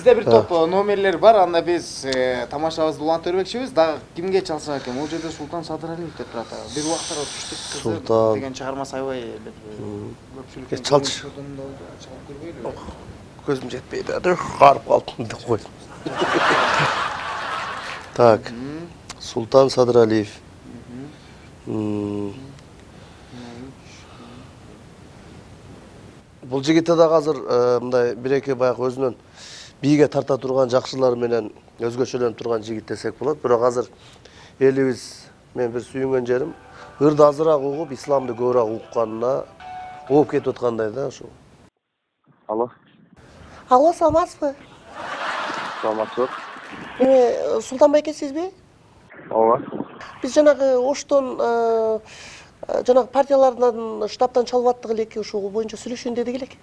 Бизде бир топ номерлер бар, анда биз тамашабызды улантып бермекчибиз. Дагы кимге чалсак экен? Бул жерде Султан Садыралиев деп турат. Бир убактта түштүк кызы деген чыгармасы аябай көпчүлүккө чалчы. Чалып көрбөйлү. Көзүм жетпейди. Карып калдым деп койдум. Так. Султан Садыралиев. Бул жигитте дагы азыр мындай бир-эки баягы өзүнөн бийге тарта турган, жакшылар менен өзгөчөлөнүп турган жигит десек болот. Бирок азыр элибиз мен бир сүйүнгөн жерим ырды азыраак угуп, исламды көбүрөөк укканына ооп кетип аткандай да ошо. Алло. Алло, саламатсызбы? Саламатсыз. Султан байке сизби? Ооба. Биз жанагы Оштон жанагы партиялардан штабтан чалып аттык элек, ошол боюнча сүйлөшөйүн дедик элек.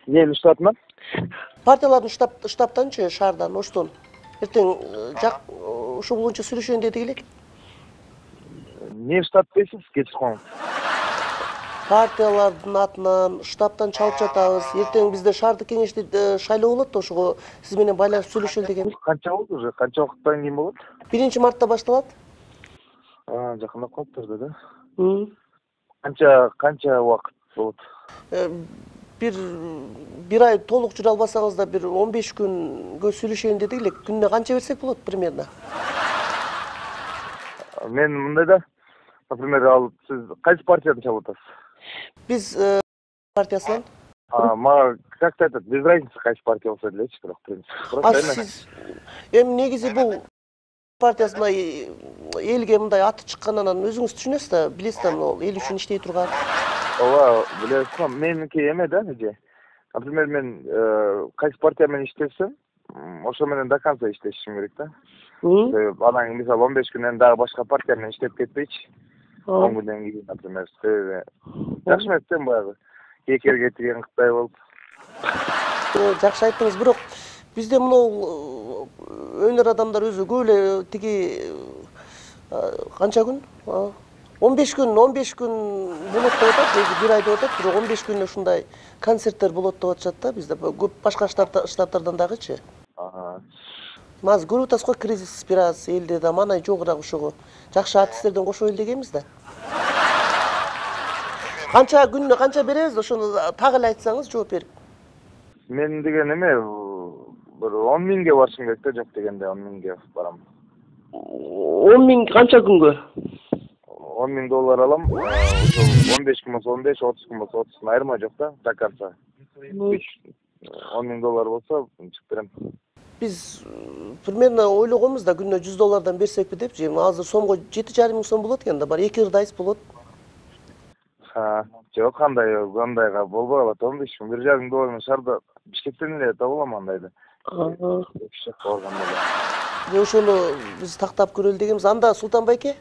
Эмне штабынан? Партиялардын штабтанчы, шаардан, Оштон. Эртең ошол боюнча сүйлөшөйүн дедик элек. Не штаб дейсиз? Кечирком. Партиялардын атынан штабтан чалып жатабыз. Эртең бизде шаардык кеңешти шайлоо болот, ошого сиз менен байланышып сүйлөшөлү деген. Канча болду уже? Канча убакыттан кийин болот? 1-мартта башталат. Жакындап калыптыр да. Канча убакыт болот? Bir ay толук жүрө албасаңыз да бир 15 күнгө сүйлөшөйүн дедик элек. Күнүнө канча берсек болот примерно? Мен мындай да, например, сиз кайсы партиядан чалып атасыз? Биз партиясынан. Мага как-то без разницы кайсы партия болсо делечи, бирок принцип. Сиз негизи бул партиясына элге мындай аты чыккандан өзүңүз түшүнөсүз да, билесиз да, эл үчүн иштей турган. Ооба, билесизби, меники эме да, эже. Например, мен кайсы партия менен иштесем, ошо менен до конца иштешим керек да. Анан мисалы 15 күнөн дагы башка партия менен иштеп кетпейчи. 10 күндөн кийин, например, жакшы эмес да баягы. Кекерге тиген кытай болуп. Жакшы айттыңыз, бирок бизде мынау өнөр адамдар өзү көп эле тиги канча күн? 15 күн болот деп атат, өзү бир ай деп атат, бирок 15 күн ушундай концерттер болот деп атышат да бизде. Көп башка штаттардан дагычы. Маз көрүп атасыз го, кризис бир аз элде да манай жогураак ошого. Жакшы артисттерден кошо эл дегенбиз да. Канча күнүнө канча беребиз, ошону так эле айтсаңыз жооп берип. Мен деген эме bir 10 миңге барышым керек да, жок дегенде 10 миңге барам. 10 миң канча күнгө? 10 миң доллар алам. Ошол 15 күн болсо 15, 30 күн болсо 30, айырма жок да, до конца. 10 миң доллар болсо чыгып берем. Биз примерно ойлогонбуз да күнүнө 100 доллардан берсекпи депчи. Азыр сомго 7,5 миң сом болот экен да, бар 2 ырдайс болот. Жок, кандайга болбой калат. 15 миң, 1,5 доллар менен шаарда Бишкектен эле таба алам андайды. Ошону биз тактап көрөлү дегенбиз. Анда Султан байке?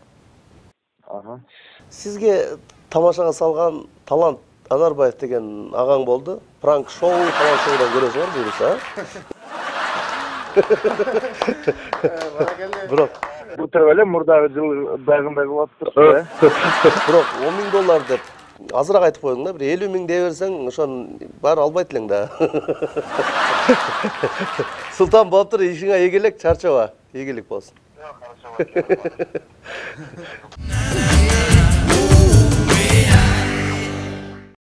Сизге тамашага салган Талант Анарбаев деген агаң болду. Пранк шоу, талант шоудан көрөсүңөр буюрса. Бирок бутур эле мурдагы жыл дагындай болуп турду. Бирок 10 миң доллар деп азыраак айтып коюң да, бир 50 миң дей берсең, ошон баары албайт элең да. Султан болуптур, ишиңе ийгилик, чарчаба. Ийгилик болсун.